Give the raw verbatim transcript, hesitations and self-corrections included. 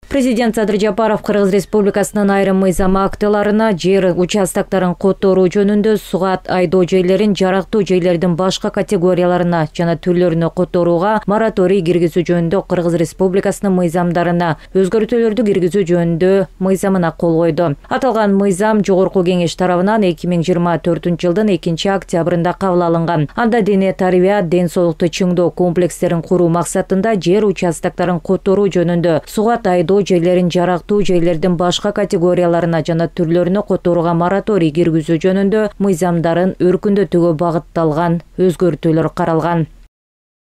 Президент Садыр Жапаров Кыргыз Республикасынын айрым мыйзам актыларына жер участоктарын которуу жөнүндө сугат айдоо жерлерин жарактуу жерлердин башка категорияларына жана түрлөрүнө которууга мораторий киргизүү жөнүндө Кыргыз Республикасынын мыйзамдарына өзгөртүүлөрдү киргизүү жөнүндө мыйзамына кол койду. Аталган мыйзам Жогорку Кеңеш тарабынан эки миң жыйырма төртүнчү жылдын экинчи октябрында кабыл алынган. Анда дене тарбия, ден соолукту чыңдоо комплекстерин куруу максатында жер участоктарын которуу жөнүндө сугат айдоо жерлерин жарактуу жерлердин башка категорияларына жана түрлөрүнө которууга мораторий киргизүү жөнүндө мыйзамдарын өркүндөтүүгө багытталган өзгөртүүлөр каралган.